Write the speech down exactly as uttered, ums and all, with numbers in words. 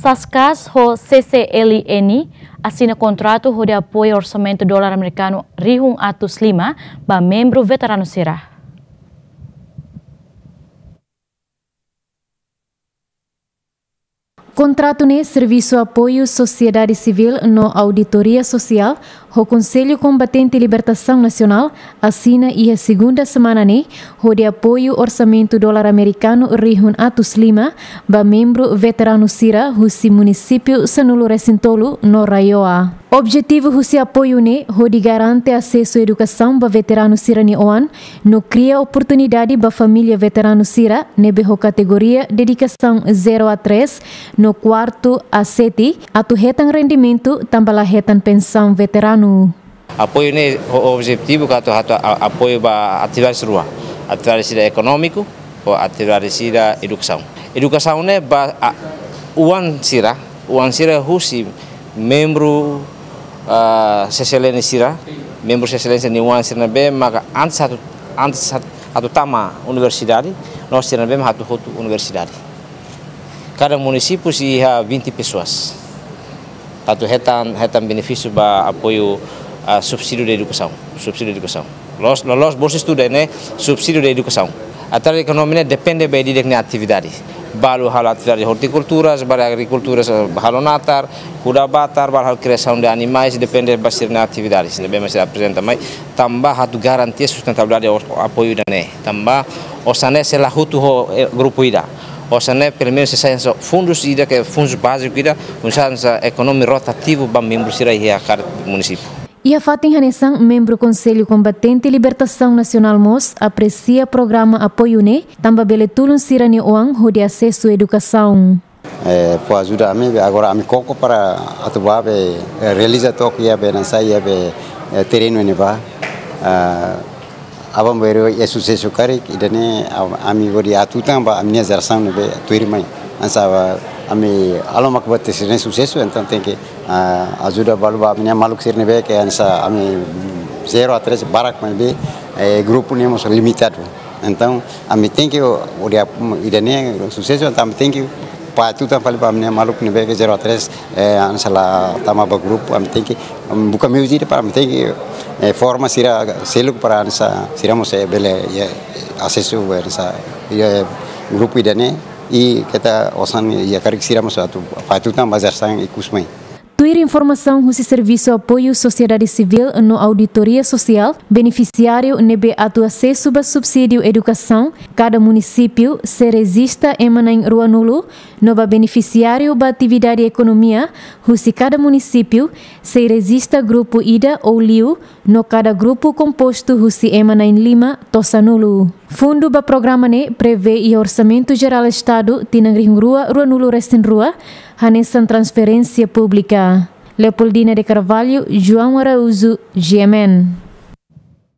Paskas ho C C L N asina kontratu hodi apoiu orsamentu dolar amerikanu rihun atus lima ba membru veteranu sira. Kontratu ne'e Servisu Apoiu Sosiedade Sivíl no Auditoria Sosiál ho Konsellu Kombatente Libertasaun Nasionál asina iha segunda semana ne'e, hodi apoiu orsamentu dolar amerikanu rihun atus lima ba membru veteranu sira husi munisípiu sanulu-resin-tolu no RAEOA. Objetivu husi apoiu ne'e hodi garante asesu edukasaun ba veteranu sira-nia oan, no kria oportunidade ba família veteranu sira ne'ebé ho kategoria dedikasaun zero a três no kuartu a sete atu hetan rendimentu tanba la hetan pensaun veteranu. Apoiu ne'e ho objetivu katak atu a-, apoiu ba atividade rua, atividade sira ekonómiku ho atividade sira edukasaun. Edukasaun ne'e ba, a, oan sira, oan sira husi membru, ah, C C L N sira, membru C C L N sira-nia oan sira ne'ebé maka antes atu, antes atu, atu tama universidade, no sira ne'ebé atu hotu universidade. Kada munisípiu sei iha vinte pessoas. Atu hetan, hetan benefísiu ba apoiu, ah, subsídiu de edukasaun, subsídiu de edukasaun. Loloos, loloos bolsa estudu ne'e subsídiu de edukasaun. Atividade ekonomia ne'e depende ba ida-idak nia atividade. Balu halo atividade ortikultura, balu agrikultura, halo natar, kuda batar, balu halo kriasaun de animais, depende ba sira-nia atividade. Sira ne'ebé mak sei aprezenta mai, tanba atu garantia sustentabilidade ho apoiu ida-ne'e. Tanba osan ne'e sei la hotu ho, eh, grupu ida. Osan ne'e pelumenus sei sai hanesan fundus ida ke fundus báziku ida, hanesan ekonomia rotativu ba membru sira iha kada munisípiu. Iha fatin hanesan, membru Konsellu Kombatente Libertasaun Nasionál mós apresia programa apoiu ne'e, tanba bele tulun sira-nia oan hodi asesu edukasaun. Eh, fó ajuda ami, agora ami koko para atu bá be, eh, realiza took iha be hanesan iha be, eh, terrenu ne'ebá. Ah, aban-bainrua iha susesu karik, ida-ne'e, ah, ami hodi atu tan ba ami-nia jerasaun ne'ebé tuirmai. Hanesan ba ami halo mak buat sira-ne'e susesu, entaun tenke, ah, ajuda balu ba ami-nia maluk sira ne'ebé ke hanesan ami, mm, zero a três barak maibé, eh, grupu ne'e mós limitadu. Entaun, ami tenke, o, o dia, ida-ne'e susesu, entaun ami tenke fó atu tan fali ba ami-nia maluk ne'ebé ke zero a três, eh, hanesan la tama ba grupu, ami tenke, mm, buka meius ida para ami tenke, eh, forma sira seluk para hanesan sira mós, eh, bele, eh, asesu, eh, hanesan, eh, grupu ida-ne'e, i keta osan iha karik sira mós atu fó atu tan ba jerasaun ikus mai. Tuir informasaun husi Servisu Apoiu Sosiedade Sivíl no Auditoria Sosiál, benefisiáriu ne'ebé atu asesu ba subsídiu edukasaun kada munisípiu sei rejista ema na'in ruanulu, no ba benefisiáriu ba atividade ekonomia husi kada munisípiu sei rejista grupu ida ou liu, no kada grupu kompostu husi ema na'in lima to'o sanulu. Fundu ba programa ne'e prevee iha Orsamentu Jerál Estadu tinan rihun rua ruanulu-resin-rua, hanesan transferénsia públika. Leopoldina de Carvalho, João Araújo, G M N.